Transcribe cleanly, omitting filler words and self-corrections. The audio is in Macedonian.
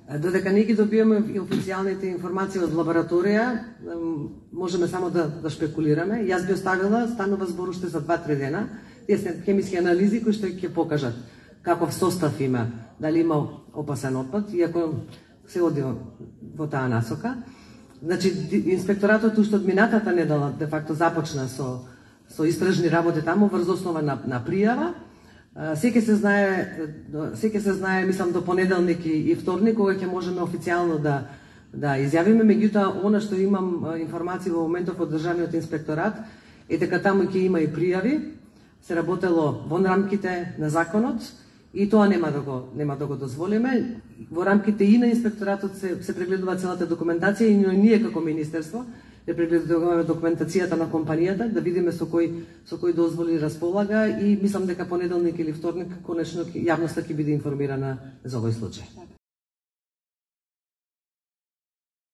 Додека не ги добиваме и официјалните информации од лабораторија, можеме само да шпекулираме. Јас би оставила, станува збор уште за 2-3 дена, тие се хемиски анализи кои што ќе покажат каков состав има, дали има опасен отпад, иако се оди во таа насока. Значи, инспекторатот уште од минатата недела де факто започна со истражни работи таму врз основа на пријава. Секој се знае, мислам, до понеделник и вторник, кога ќе можеме официјално да изјавиме. Меѓутоа, она што имам информации во моментов од Државниот инспекторат е дека таму ќе има и пријави, се работело во рамките на законот и тоа нема да го дозволиме. Во рамките и на инспекторатот се прегледува целата документација и ние како министерство да прегледуваме документацијата на компанијата, да видиме со кои дозволи располага и мислам дека понеделник или вторник конечно јавноста ќе биде информирана за овој случај.